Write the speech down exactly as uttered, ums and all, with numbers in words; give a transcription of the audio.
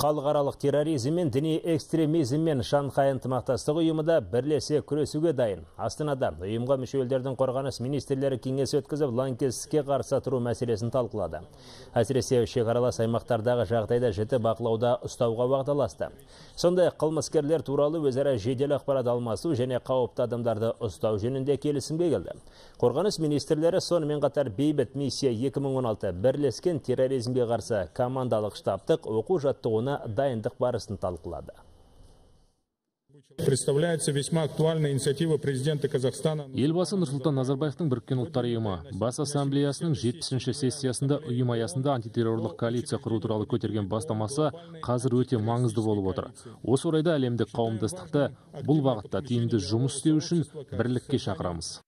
Халықаралық терроризм мен діни экстремизм мен Шанхай ынтымақтастық ұйымында бірлесе күресуге дайын. Астанада ұйымға мүше елдердің қорғаныс министрлері кеңес өткізіп, лаңкестікке қарсы тұру мәселесін талқылады. Әсіресе шекаралас аймақтардағы жағдайда жіті бақылауда ұстауға уағдаласты. Сондай қылмыскерлер туралы өзара жедел ақпарат алмасу және қауіпті адамдарды ұстау жөнінде келісімге келді. Қорғаныс министрлері сонымен қатар бейбіт миссия екі мың он алты бірлескен терроризмге қарсы командалық штабтық оқу жаттығуына дайындық барысын талқылады. Представляется весьма актуальная инициатива президента Казахстана. Елбасы Нұрсұлтан Назарбаевтың Біріккен ұлттар ұйымы бас ассамблеясының жетпісінші сессиясында ұйым аясында антитеррорлық коалиция құру туралы көтерген бастамасы қазір өте маңызды болып отыр. Осы орайда әлемдік қауымдастықты бұл бағытта тиімді жұмыс істеу үшін бірлікке шақырамыз.